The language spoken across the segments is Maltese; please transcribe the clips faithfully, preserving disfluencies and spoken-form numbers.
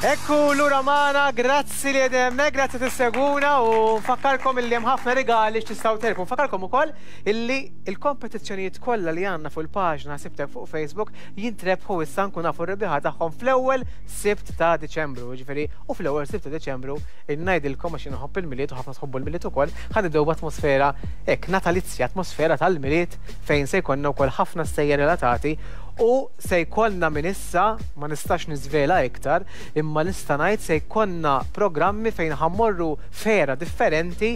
Ekku lura magħna, grazzi li għedem, grazzi tissegwuna u nfakkarkom illi hemm ħafna rigali x'tistgħu tirbħu. Nfakkarkom ukoll illi il-kompetizzjonijiet kollha li għandna fuq il-paġna Sibtek fuq Facebook jintrebħu issa nkun nafu r-rebbieħa tagħhom fl-ewwel Sibt ta' Diċembru, ġifieri u fl-ewwel Sibt ta' Diċembru ngħidilkom għax inħobb il-Milied u ħafna tħobbu l-Milied ukoll, ħa nibdew b'atmosfera hekk natalizja, atmosfera tal-Milied fejn se jkollna wkoll ħafna stejjer relatati u se jkollna minn issa, ma nistax niżvela iktar, imma nista' ngħid se jkollna programmi fejn ħa mmorru fera differenti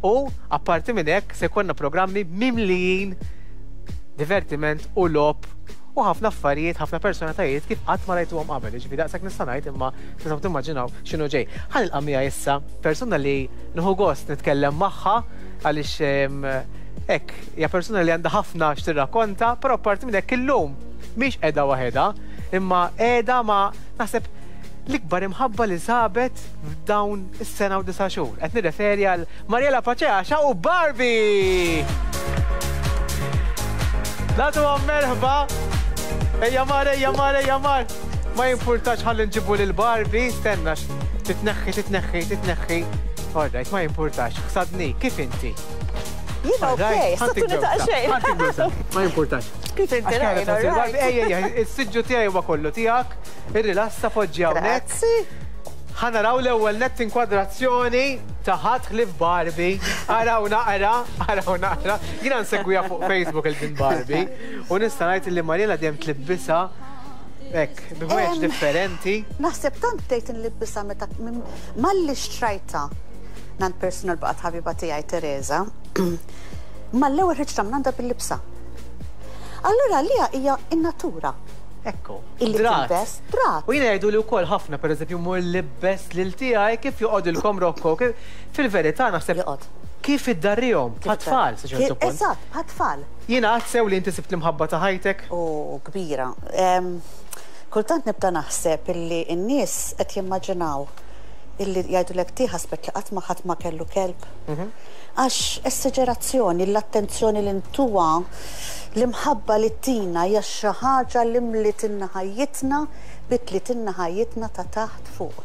u apparti minn hekk se jkollna programmi mimlijin divertiment u logħob u ħafna affarijiet, ħafna personalitajiet kif qatt ma rajtuhom qabel. Ġifieri daqshekk nista' ngħid imma tistgħu timmaġinaw x'inhu ġej. Ħa nilqa' miegħi issa persuna li nieħu gost nitkellem magħha għaliex hekk hija persuna li għandha ħafna x'tirrakkonta, però apparti minn hekk illum mhix qiegħda waħedha, imma qiegħda ma' naħseb l-ikbar imħabba li sabet f'dawn is-sena u disa' xhur. Qed nirreferi għal Mariela Pace Asha u Barbie! Nagħtuhom merħba! Ejja mar, ejja mar, ejja mar! Ma jimpurtax ħalli nġibu lil Barbie, stenna titneħħi, titneħħi, titneħħi. All right, ma jimpurtax. Ħsadni, kif inti? Jiena okej, satuni ta' xejn. Ma jimpurtax. Kif inti rajna, Ejja, ejja, is-siġġu tiegħi huwa kollu tiegħek, irrilassa poġġi hawnhekk. Grazzi. Ħa naraw l-ewwel nett inkwadrazzjoni ta' ħadd ħlief Barbie. Araw naqra, araw naqra. Jiena nsegwiha fuq Facebook il-din Barbie u nista' ngħid li Mariela dejjem tlibbisha hekk, bi ħwejjeġ differenti. Naħseb tant bdejt nlibbisha meta malli xtrajtha mingħand personal baqgħet ħabiba tiegħi Teresa. Mal-ewwel ħriġt minn għandha bil-libsa. Allura lija hija in-natura. Ekku. Illi Drat. tilbes, drat. U jiena jgħidu li wkoll ħafna, pereżempju, mur libbes lil tiegħi kif joqgħodilkom Rocco. kif- Fil-verità naħseb Joqgħod. kif iddarrihom bħat-tfal sa ċertu punt. Eżatt, bħat-tfal. Jiena għad sew li inti sibt l-imħabba ta' ħajtek. U kbira. Em, Kultant nibda naħseb illi n-nies qed jimmaġinaw illi jgħidulek ti ħasbet li qatt ma ħadd ma kellu kelb. Għax esagerazzjoni, l-attenzjoni li ntuha, l-imħabba li tina hija xi ħaġa li mlitilna ħajjitna, bidlitilna ħajjitna ta' taħt fuq.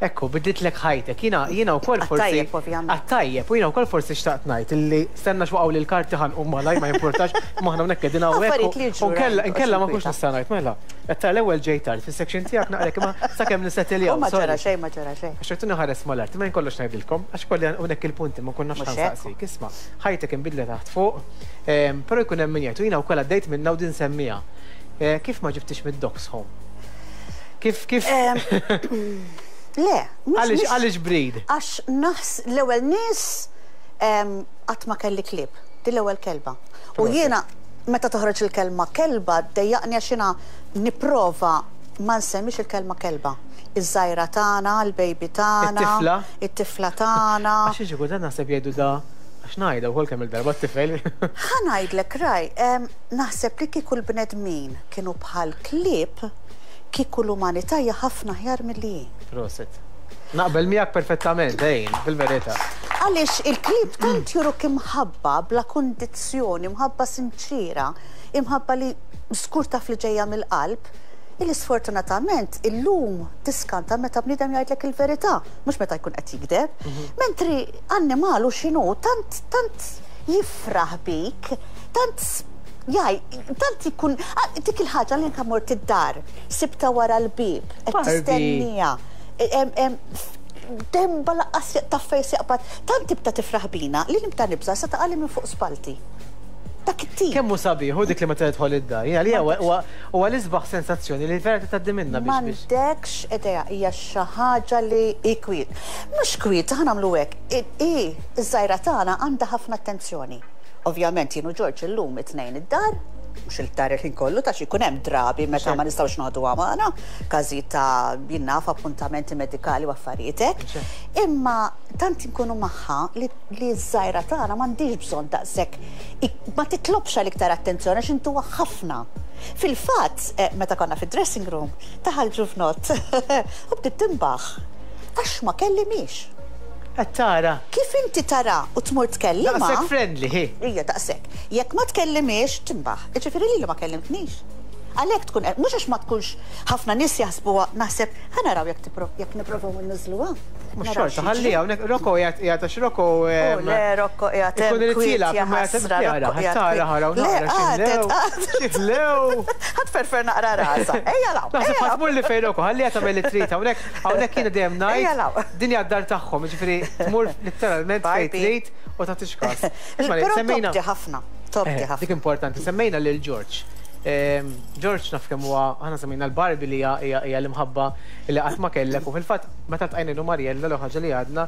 Ekku, bidlitlek ħajtek. Jiena jiena wkoll forsi. Għat-tajjeb, ovvjament. Għat-tajjeb, u jiena wkoll forsi xtaqt ngħid illi stenna x'waqgħu li l-karti ħa nqum malaj ma jimpurtax, ma aħna hawnhekk qegħdin hawnhekk. Affarijiet li jiġru, U nkella right, nkella ma mhux kunx nista' ngħid, mela. Qed tara l-ewwel ġej tard fis-section tiegħek naqrek imma sakemm nissettiljaw. U ma sorry. ġara xejn, ma ġara xejn. Għax rrid ħares mal-art, ma jkollox ngħidilkom, għax kolli hawnhekk il-punti ma kunnax Mhux hekk. ħansaqsik. Isma', ħajtek inbidlet taħt fuq, ehm, però jkun hemm min jgħid, u jiena wkoll għaddejt minna u din semmiha. Eh, Kif ma ġibtix mid-dogs home? Kif kif Em, Le, mhux- għaliex mhux- għaliex breed? Għax naħs l-ewwel nies em, qatt ma kelli klieb, di l-ewwel kelba. U Proset. jiena meta toħroġ il-kelma kelba dejjaqni għax jiena nipprova ma nsemmix il-kelma kelba. Iż-żgħira tagħna, il-baby tagħna, It-tifla? it-tifla tagħna. Għax iġi dan naħseb jgħidu da għax ngħidha wkoll kemm il-darba t-tifel. Ħa ngħidlek raj, em, naħseb li kieku l-bnedmin kienu bħal klieb, kieku l-umanità hija ħafna aħjar milli hi. Proset. Naqbel miegħek perfettament, ejn, fil-verità. Għaliex il-klieb tant juruk imħabba bla kondizzjoni, imħabba sinċira, imħabba li żgur taf li ġejja mill-qalb, illi sfortunatament illum tiskanta meta bniedem jgħidlek il-verità, mhux meta jkun qed jikdeb. Mentri annimal u x'inhu tant tant jifraħ bik, tant jaj, tant ikun ah, dik il-ħaġa li anka mort id-dar, sibta wara l-bib, qed Barbie. tistennija. Em- em, Demba laqqas taffej jaqbad, tant tibda tifraħ bina li nibda nibża sa taqali minn fuq spalti. Dak it-tip. Kemm hu sabiħ, u dik li meta tidħol id-dar. Jien għalija huwa huwa l-isbaħ sensazzjoni li vera tgħaddi minna biex biex. M'għandekx idea hija xi ħaġa li hi kwiet. Mhux kwiet, ħa nagħmlu hekk. I iż-żgħira tagħna għandha ħafna attenzjoni. Ovvjament jien u Ġorġ illum it-tnejn id-dar, mhux il-dar il-ħin kollu ta' xi jkun hemm drabi meta ma nistgħux noħduha magħna, każijiet ta' jien naf appuntamenti medikali u affarijiet hekk. Imma tant inkunu magħha li li ż-żgħira tagħna m'għandix bżonn daqshekk ik- ma titlobx għal iktar attenzjoni għax intuha ħafna. Fil-fatt, eh, meta konna fid-dressing room, daħal ġuvnott u bdiet timbaħ. Għax ma kellimix. Qed tara. Kif inti tara u tmur tkellima? Daqshekk friendly, hi. Ija daqshekk. Jekk ma tkellimix, timbaħ. Iġifieri li ma kellimtnix. Għalhekk tkun, mhux għax ma tkunx, ħafna nies jaħsbuha, naħseb, ħa naraw jekk jekk nipprovaw inniżluha. Mhux xorta, ħalli hawnhekk Rocco qiegħed qiegħed għax Rocco Oh, le, Rocco qiegħed Ikun irid kwiet, jilgħab, imma qiegħed ħasra, jara, Rocco qiegħed tara kwiet. ħaraw Le, naqra għadet, x'ħlew. Ħadd ferfer naqra rasa. Ejja law. Naħseb ħa tmur li fejn Rocco, ħalli tagħmel li trid hawnhekk, hawnhekk jiena dejjem Ejja ngħid law. din hija d-dar tagħhom, jiġifieri tmur letteralment fejn Barbie. trid u tagħtix każ. Isma' Però semmejna tobdi ħafna, tobdi Eh, Dik ħafna. importanti, semmejna lil George. Ehm, George naf kemm huwa, aħna semmejna l-Barbie li hija hija hija l-imħabba li qatt ma kellek, u fil-fatt meta ltqajna Mariella l ħaġa li għadna,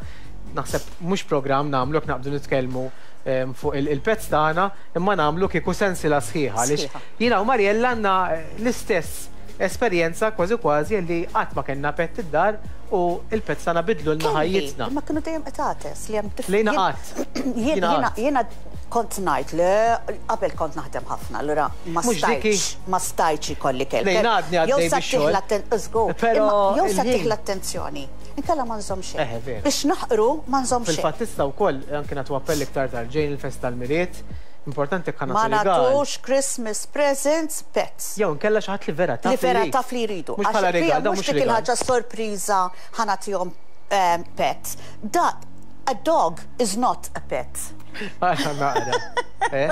naħseb mhux programm nagħmlu jekk naqbdu nitkellmu ehm, fuq il- il-pets tagħna, imma nagħmlu kieku sensila sħiħa għaliex Sħiħa. jiena u Mariella għandna eh, l-istess esperjenza kważi kważi li qatt ma kellna pet id-dar u il-pets tagħna bidlu lna ħajjitna. Ma kienu dejjem qtates li hemm dif- Lejna jien- qatt. Jien- Jiena Jiena qatt. jiena kont ngħid li qabel kont naħdem ħafna, allura ma Mhux diki. stajtx, ma stajtx ikolli kelb. Lejna għadni għaddej Jew sa bix-xogħol. tieħ l-atten- żgur. Però Imma jew sa il-ħin- tieħ l-attenzjoni. Inkella ma nżomm xejn. Eħe, vera. Biex naħqru ma nżomm xejn. Fil-fatt tista' wkoll anke nagħtu appell iktar tard ġejn il-festa tal-Milied, importanti jekk Ma nagħtu rigal. nagħtux Christmas presents pets. Jew nkella xi ħadd li vera taf Li vera jrid. taf li jridu. Mhux bħala Għax rigal, da mhux mhux dik rigal. il-ħaġa sorpriża ħa nagħtihom um, pet. Da, a dog is not a pet. Għaxa naqra. Eh?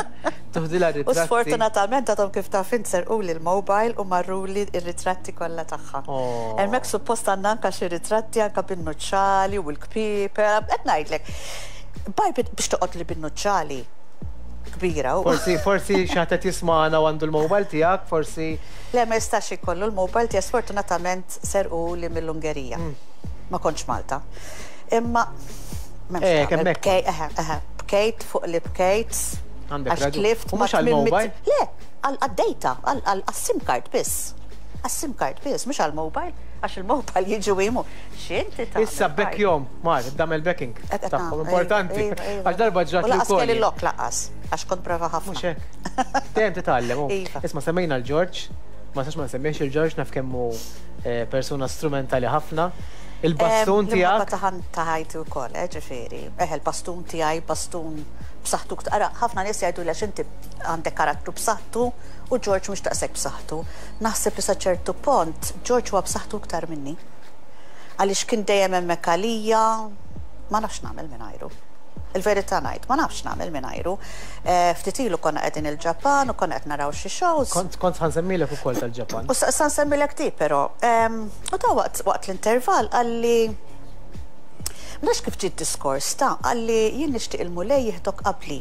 Tuħdilha U ritratti. sfortunatament għadhom kif taf int serquli l-mobile u marruli ir-ritratti kollha tagħha. Oh. Hemmhekk suppost għandna anka xi ritratti anka bin-nuċċali u l-kpiper, qed ngħidlek. Barbie biex toqgħod li bin-nuċċali kbira u Forsi forsi xi ħadd qed jismagħna u għandu l-mobile tiegħek, forsi Le, ma jistax ikollu l-mobile tiegħi, sfortunatament serquli mill-Ungerija. Mm. Ma kontx Malta. Imma m'hemmx Eh, tagħmel. kemm hekk. Bkej- eħe, eħe, bkejt fuq li bkejt. Għandek Għax raġun. tlift U ma mhux għall-mobile? tmien mit- Le, għal-data, għal-SIM card biss. Għal-SIM card biss, mhux għal-mobile, għax il-mobile jiġu jimu. X'inti tagħmel? Issa back jom, mar, damel backing. Qed Tagħhom nagħmel, importanti. iva, iva. Għax darba ġrat U li lanqas kelli wkoll. lok lanqas, għax kont brava ħafna. Mhux hekk. Dejjem titgħallem. hu. Iva. Isma' semmejna l-George, ma sax ma nsemmiex il-George, naf kemm hu eh, persuna strumentali ħafna. Il-bastun L-imħabba tiegħek. ta' ħajti wkoll, eh, ġifieri. Eħe, il-bastun tiegħi, bastun b'saħħtu. Ara, ħafna nies jgħidu li għax inti għandek karattru b'saħħtu u George mhux daqshekk b'saħħtu. Naħseb li sa ċertu pont George huwa b'saħħtu iktar minni. Għaliex kien dejjem hemmhekk għalija, ma nafx nagħmel mingħajru. Il-verità ngħid, ma nafx nagħmel mingħajru. Eh, Ftit ilu konna qegħdin il-Ġapan u konna qed naraw xi shows. Kont kont ħa nsemmilek ukoll tal-Ġapan. U sa sa nsemmilek ti, però. Em, U ta' waqt waqt l-intervall qalli, ma nafx kif ġiet diskors ta' qalli jien nixtieq il-Mulej jieħdok qabli.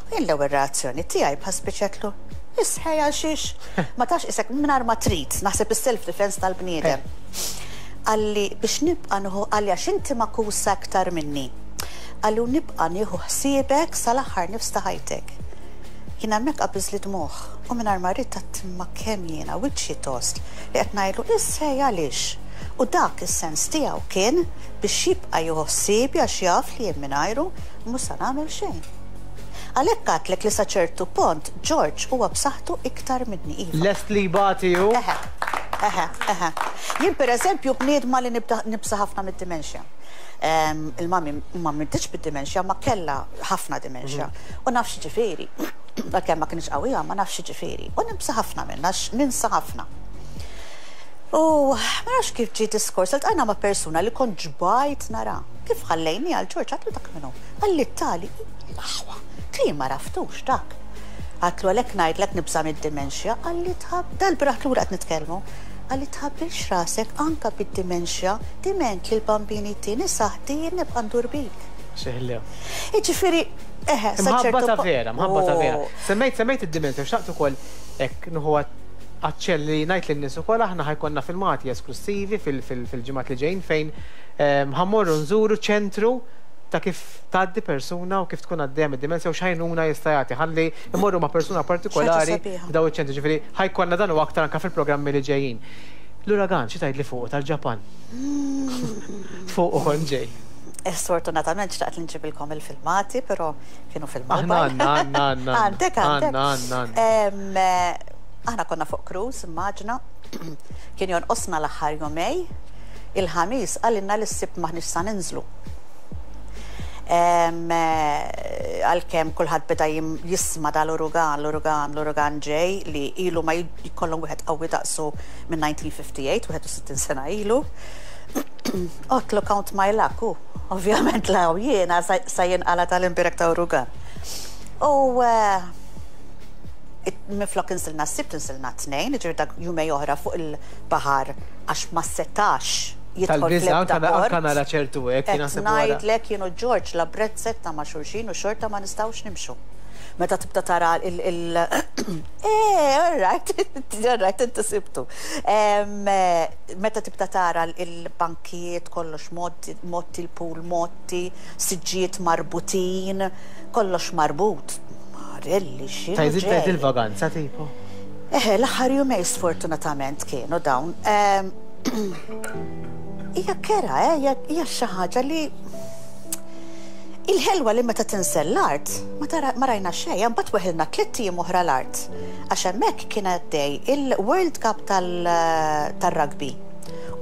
U jien l-ewwel reazzjoni tiegħi bħal speċi isħej għal xiex. Ma tax isek mingħajr ma trid, naħseb is-self defense tal-bniedem. Qalli biex nibqa' nieħu, qalli għax inti makusa aktar minni. Qalli u nibqa' nieħu ħsiebek sal-aħħar nifs ta' ħajtek. Jien hemmhekk qabiż li dmugħ u mingħajr ma rrid għedt ma kemm jiena wiċċi tost li qed ngħidlu issej għaliex. U dak is-sens tiegħu kien biex jibqa' jieħu ħsiebi għax jaf li jien mingħajru mhux se nagħmel xejn. Għalhekk għedtlek li sa ċertu pont George huwa b'saħħtu iktar minni, iva. Lest li jbati hu. Eħe, eħe, eħe. Jien per eżempju bniedma li nibda nibża' ħafna mid-dimensja. Em, Il-mami ma mmietx bid-dimensja, ma kella ħafna dimensja. U nafx ġifieri, għalkemm ma kienx qawwija, ma nafx ġifieri. U nibża' ħafna minna, għax ninsa ħafna. U ma nafx kif ġie diskors, iltqajna ma' persuna li kont ġbajt nara. Kif ħallejni għal George, għedtlu dak minnu. Qalli tali, l-aħwa, ti ma għaraftux dak. Għedtlu għalhekk ngħidlek nibża' mid-dimensja, qalli tħab, dal-bieraħ lura qed nitkellmu. Qalli tħabbilx rasek anka bid-dimensja, diment li l-bambini tini saħti jien nibqa' ndur bik. Xeħlew. Jiġifieri, eħe, sa Mħabba ċertu ta' po- vera, mħabba ta' vera. Oh. Semmejt, semmejt id-dimensja, xtaqt ukoll hekk nieħu aċċell li ngħid lin-nies ukoll aħna ħa jkollna filmati esklusivi fil- fil- fil-ġimgħat li ġejjin fejn ehm, ħa mmorru nżuru ċentru ta' kif tgħaddi persuna u kif tkun għaddejja mid-dimensja u x'għajnuna jista' jagħti. Ħalli immorru ma' persuna partikolari sabiħa. daw iċ-ċentru, ġifieri ħa jkollna dan u aktar anke fil-programmi li ġejjin. L-uragan, xi tgħid li fuq tal-Ġapan? Fuq u kont ġej. Eh, Sfortunatament xtaqt li nġibilkom il-filmati, però kienu fil-mobile. Aħna għandna, għandna, għandna. Għandek, għandek. Għandna, għandna, għandna. Em, eh, Aħna konna fuq cruise, immaġina, kien jonqosna l-aħħar jumejn, il-Ħamis qalilna li s-Sibt m'aħniex sa ninżlu. Għalkemm kulħadd beda jisma' dal-urugan, l-urugan, l-urugan ġej li ilu ma jkollhom wieħed qawwi daqsu minn elf disa' mija u sitta u ħamsin, wieħed u sittin sena ilu. Għedtlu count my luck, u ovvjament law jiena sa jinqala tal-imbirek ta' urugan. U minflok inżilna s-Sibt inżilna t-Tnejn, ġifieri dak jumejn oħra fuq il-baħar għax ma setax jidħol fl-ebda port. Tal-biża' nara ċertu hekk. Ngħidlek jien u George la brezzetta ma' xulxin u xorta ma nistgħux nimxu. Meta tibda tara il- il- Eh, all right, all right, inti sibtu. Meta tibda tara il-bankijiet kollox motti, il-pool motti, siġġijiet marbutin, kollox marbut. Marelli, xinu. Tajt il-vaganza tipo? Eħe, l-aħħar jumejn sfortunatament kienu dawn. Hija kera, eh, hija xi ħaġa li il-ħelwa li meta tinżel l-art, ma rajna xejn, mbagħad weħilna tliet ijiem oħra l-art. Għax hemmhekk kien għaddej il-World Cup tal-rugby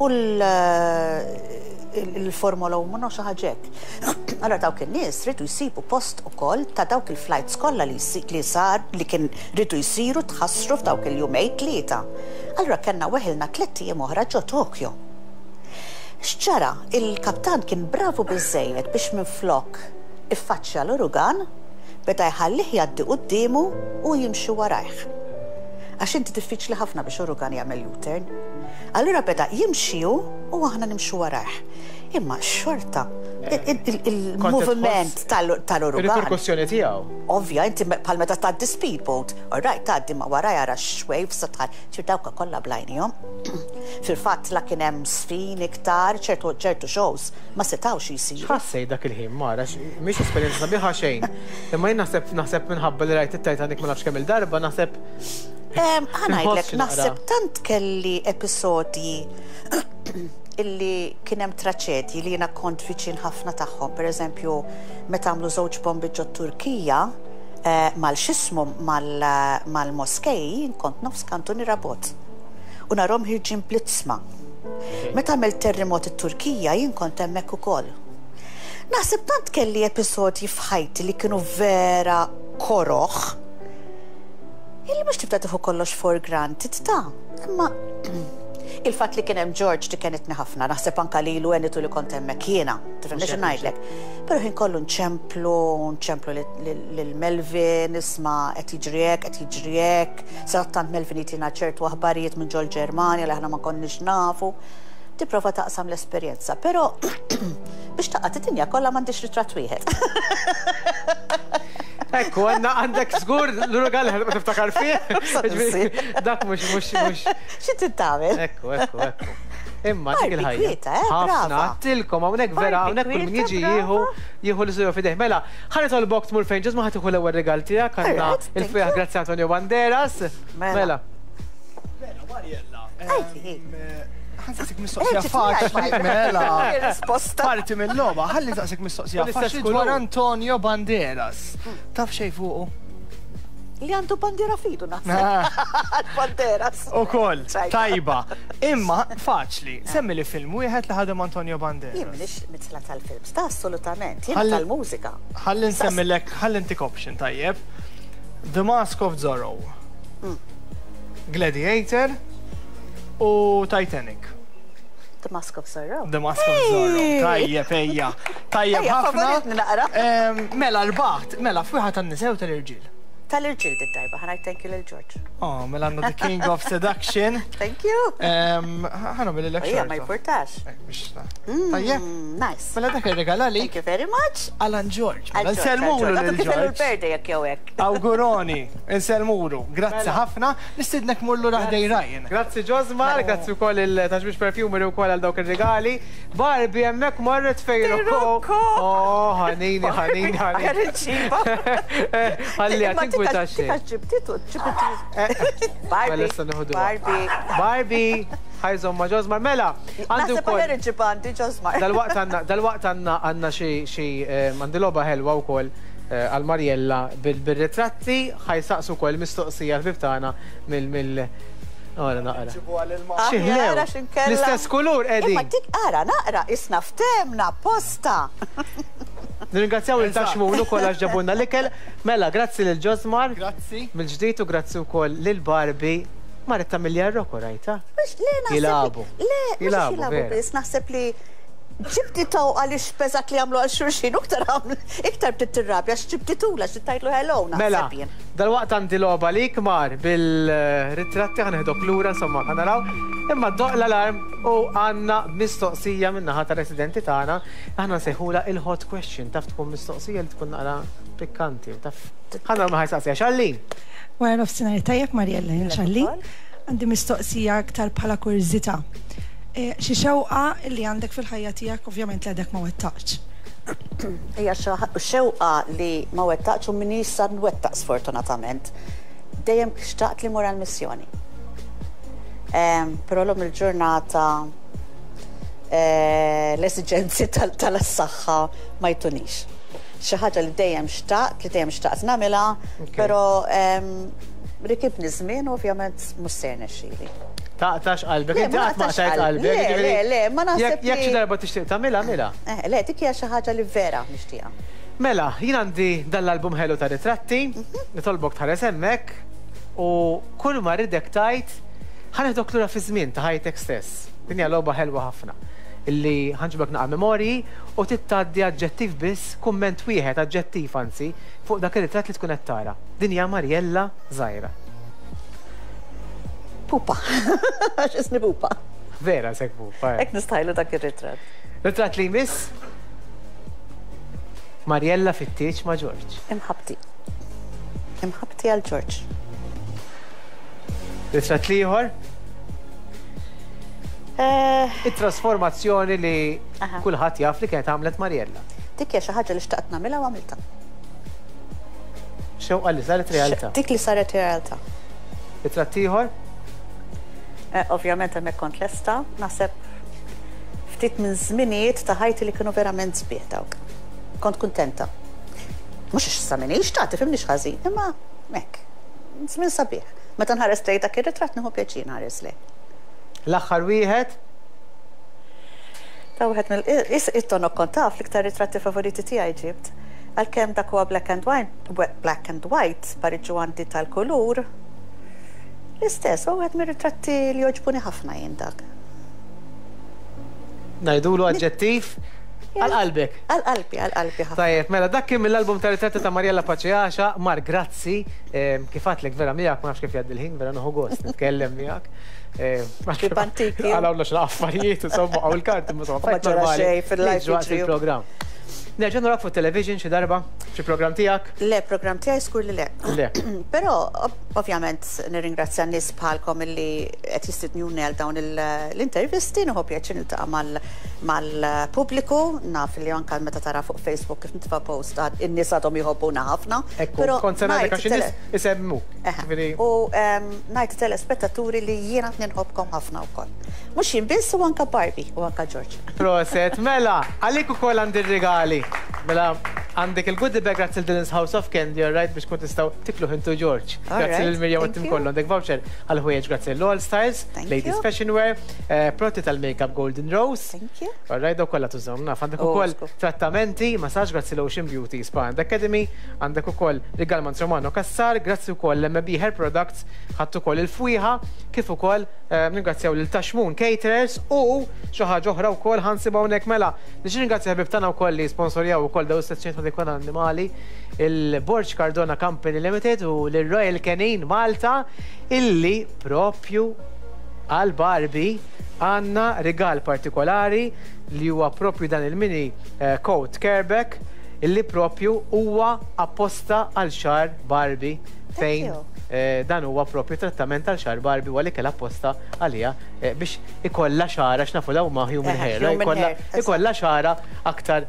u l-Formula one xi ħaġa hekk. Allora dawk in-nies ridu jsibu post ukoll ta' dawk il-flights kollha li sar li kien ridu jsiru tħassru f'dawk il-jumejn tlieta. Allora kellna weħilna tliet ijiem oħra ġo Tokyo. X'ġara, il-kaptan kien bravu biżejjed biex minflok iffaċċja l-urugan, beda jħallih jgħaddi quddiemu u jimxi warajh. Għax inti diffiċli ħafna biex urugan jagħmel U-turn. Allura beda jimxi hu u aħna nimxu warajh. Imma xorta, il-moviment tal-urugan. Il-riperkussjoni tiegħu. Ovvja, inti bħal meta tgħaddi speedboat, all right, tgħaddi ma wara jara x-waves tħal, ċir dawka kollha blajnihom. Fil-fatt la kien hemm sfin iktar, ċertu ċertu shows ma setawx jisiru. X'ħassej dak il-ħin, Mara, mhix esperjenza sabiħa xejn. Imma jien naħseb naħseb minħabba li rajt it-Titanic ma nafx kemm il-darba, naħseb Ħa ngħidlek, naħseb tant kelli episodji illi kien hemm traċedji li jiena kont viċin ħafna tagħhom. Per eżempju, meta għamlu żewġ bombi ġo Turkija, eh, mal-xismu mal-moskej, kont nofs kantuniera bogħod. U narahom ħierġin bl-iġsma. Meta għamel terremot it-Turkija, jien kont hemmhekk ukoll. Naħseb tant kelli episodji f'ħajti li kienu vera koroħ, illi mhux tibda tieħu kollox for granted ta' imma il-fatt li kien hemm George di kienet ħafna, naħseb anka lilu għenitu li kont hemmhekk jiena, tifhem xi ngħidlek. Però ħin kollu nċemplu, nċemplu lil Melvin, isma' qed jiġri hekk, qed jiġri hekk, tant Melvin jtina ċertu aħbarijiet minn ġol Ġermanja li aħna ma konniex nafu. Tipprova taqsam l-esperjenza, però biex taqgħod id-dinja kollha m'għandix ritratt wieħed. Ekku, għandna għandek żgur l-urugan li ma tiftakar fih. Dak mhux mhux mhux. Xi tagħmel? Ekku, ekku, ekku. Imma dik il-ħajja. Kwieta, eh, Ħafna tilkom hawnhekk vera hawnhekk kull min jiġi jieħu jieħu l fidejh. Mela, ħa nitolbok tmur fejn ġisma ħa tieħu l-ewwel rigal tiegħek għandna il-fwieħ grazzi Antonio Banderas. Mela. Mela, Mariella. Ħa nsaqsik mistoqsija faċli, mela. Risposta. Parti mill-logħba, ħalli nsaqsik mistoqsija faċli dwar Antonio Banderas. Taf xejn fuqu? Li għandu bandiera f'idu naħseb. Banderas. Ukoll, tajba. Imma faċli, semmi li film wieħed li ħadem Antonio Banderas. Jien minix mitla tal-films, ta' assolutament, jien tal-mużika. Ħalli nsemmilek, ħalli ntik option tajjeb. The Mask of Zorro. Gladiator u Titanic. The Mask of Zorro. The Mask of Zorro. Tajjeb, ejja. Tajjeb ħafna. Mela, rbaħt, mela, fwieħa tan-nisa u tal-irġiel. Tal-irġiel dit-darba, ħa ngħid thank you lil George. Oh, mela għandna The King of Seduction. Thank you. Ħa nagħmel il Ejja, ma jportax. Tajjeb. Nice. Mela dak ir-regal għalik. Thank you very much. Alan George. Mela nsellmulu lil George. George. Jekk jew hekk. Awguroni, nsellmulu. Grazzi ħafna. Nistidnek mullu raħdej Ryan. Grazzi Josmar, grazzi wkoll il-Taġbix Perfumery wkoll għal dawk ir-regali. Barbie hemmhekk marret fejn Rocco. Oh, ħanini, ħanini, ħanini. Ħalli tinkwita xejn. Ġibtitu, ġibtitu. Barbie. Barbie. Barbie. Ħajżom ma' Josmar. Mela, għandu wkoll. Naħseb għandi Josmar. Dal-waqt għandna dal-waqt għandna għandna xi xi għandi logħba ħelwa wkoll għal Mariella bil-ritratti ħa jsaqsu wkoll mistoqsija l-ħbieb tagħna mill mill Ora naqra. Xi L-istess kulur qegħdin. Imma dik ara naqra isna ftemna posta. Nirringrazzjaw lil Taxmun ukoll għax ġabulna l-ikel. Mela, grazzi lil Ġosmar. Grazzi. Mill-ġdid u grazzi wkoll lil Barbie. Marret ta' Milja Rocco rajta? Jilabu. Le, jilabu biss, naħseb li ġibti taw għalix peżat li għamlu għal xulxin, iktar iktar bdiet tirrabja għax ġibtitula xi tajtlu hello Mela, dal-waqt għandi logħba lik Mar bil-ritratti ħaneħdok lura insomma ħa naraw. Imma doq l-alarm u għandna mistoqsija min-naħa tar-residenti tagħna, aħna nsejħula il-hot question, taf tkun mistoqsija li tkun naqra pikkanti, taf. Ħa naraw ma ħajsaqsija. Xallin. Wara nofsinhar tajjeb Mariella, jien Xallin. Għandi mistoqsija aktar bħala kurżità. Xi xewqa li għandek fil-ħajja tiegħek ovvjament li għadek ma wettaqx. Hija xewqa li ma wettaqx u minix sa nwettaq sfortunatament. Dejjem xtaqt li mur għall-missjoni. Però llum il-ġurnata l-esiġenzi tal-saħħa ma jtunix. Xi ħaġa li dejjem xtaqt, li dejjem xtaqt nagħmilha, però rikibni żmien u ovvjament mhux se jirnexxieli. Taqtax qalbek, inti qatt ma qtajt qalbek. Le, le, ma naħseb. Jekk xi darba tixtieq tagħmilha, agħmilha. Le, dik hija xi ħaġa li vera nixtieqha. Mela, jien għandi dan l-album ħelu ta' ritratti, nitolbok tħares hemmhekk u kull ma rridek tajt ħa neħdok lura fi żmien ta' ħajtek stess. Din hija logħba ħelwa ħafna illi ħanġibek naqa' memorji u tittgħaddi aġġettiv biss, kumment wieħed aġġettiv anzi, fuq dak ir-ritratt li tkun qed tara. Din hija Mariella żgħira. Pupa. Għax isni pupa. Vera sek pupa. Hekk nistajlu dak ir-ritratt. Ritratt li jmiss Mariella fit-tieġ ma' Ġorġ. Imħabti. Imħabti għal Ġorġ. Ritratt ieħor? It-trasformazzjoni li kulħadd jaf li kienet għamlet Mariella. Dik hija xi ħaġa li xtaqt nagħmilha u għamiltha. Xewqa li saret realtà. Dik li saret realtà. Ritratt ieħor? Ovvjament hemmhekk kont lesta, naħseb ftit minn żminijiet ta' ħajti li kienu verament sbieħ dawk. Kont kuntenta. Mhux għax issa m'iniex ta' tifhimniex ħażin, imma hekk. Żmien sabiħ. Meta nħares lejn dak ir-ritratt nieħu pjaċir nħares lejh. L-aħħar wieħed? Ta' wieħed mill it-tonok kont taf l-iktar ritratti favoriti tiegħi ġibt. Għalkemm dak huwa black and white, black and white, pariġu għandi tal-kulur. L-istess, u għed mir-ritratti li joġbuni ħafna jien dak. Ngħidulu aġġettiv għal qalbek. Għal qalbi, għal qalbi ħafna. Tajjeb, mela dak kien mill-album ta' ritratti ta' Mariella Pace Għaxaq. Mar, grazzi. Kif għadtlek vera miegħek, ma nafx kif jgħaddi l-ħin, vera nieħu gost nitkellem miegħek. Antiki. Għalawna xi affarijiet, insomma, għaw il-karti, insomma, Ma ġara xejn fil-life il-programm. Nerġa' narak fuq television xi darba, xi programm tiegħek? Le, programm tiegħi skur li le. Le. Però ovvjament nirringrazzja n-nies bħalkom illi qed jistidnuni għal dawn l-intervisti, nieħu pjaċir niltaqa' mal-pubbliku, naf li anke meta tara fuq Facebook kif nitfa' post in-nies għadhom jħobbuna ħafna. Ekku, kont se ngħidlek għax in-nies isemmuk. U ngħid telespettaturi li jiena nħobbkom ħafna wkoll. Mhux jien biss u anke Barbie u anke George. Proset, mela, għalik ukoll għandi r-rigali. Mela, għandek il-goodie bag grazzi l-Dylan's House of Candy, all right, biex kun tistgħu tiklu intu George. Grazzi lil Mirjam u tim kollu. Għandek voucher għal ħwejjeġ grazzi l-All Styles, Ladies Fashion Wear, prodotti tal-makeup Golden Rose. Thank you. All right, daw kollha tużhom naf. Għandek ukoll trattamenti, massage grazzi l-Ocean Beauty Spa and Academy, għandek ukoll rigal Mans Romano Cassar, grazzi ukoll l-M B Hair Products, ħadd ukoll il-fwieħa, kif ukoll ningrazzjaw lil Taxmun Caterers u xi ħaġa oħra wkoll ħansibha hawnhekk mela. Nixtieq ningrazzja ħbieb tagħna wkoll li sponsorjaw ukoll daw is-sezzjoni ta' dikon annimali, il-Borg Cardona Company Limited u l-Royal Canin Malta, illi propju għal Barbie għandna rigal partikolari li huwa propju dan il-mini coat careback illi propju huwa apposta għal xar Barbie fejn dan huwa propju trattament għal xar Barbie u għalik apposta għalija biex ikolla xara x'nafu law ma human hair, ikolla xara aktar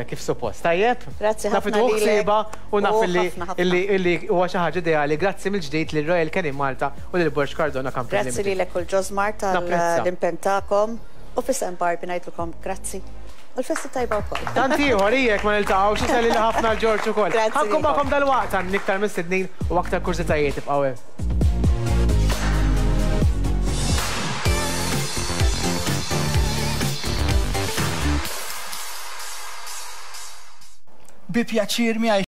kif suppost. Tajjeb? Grazzi ħafna. Naf ħsieba u naf illi huwa xi ħaġa ideali. Grazzi mill-ġdid lil Royal Canin Malta u lil Borg Cardona Company. Grazzi lilek u l-Ġosmar tal-impenn tagħkom u f'isem Barbie ngħidilkom grazzi. U l-festa tajba wkoll. Tant ieħor jekk ma niltaqgħux isellili ħafna l-Ġorġ ukoll. Ħankun magħkom dalwaqt għand iktar mistednin u aktar kurżitajiet ibqgħu hemm. Bi pjaċir miegħi.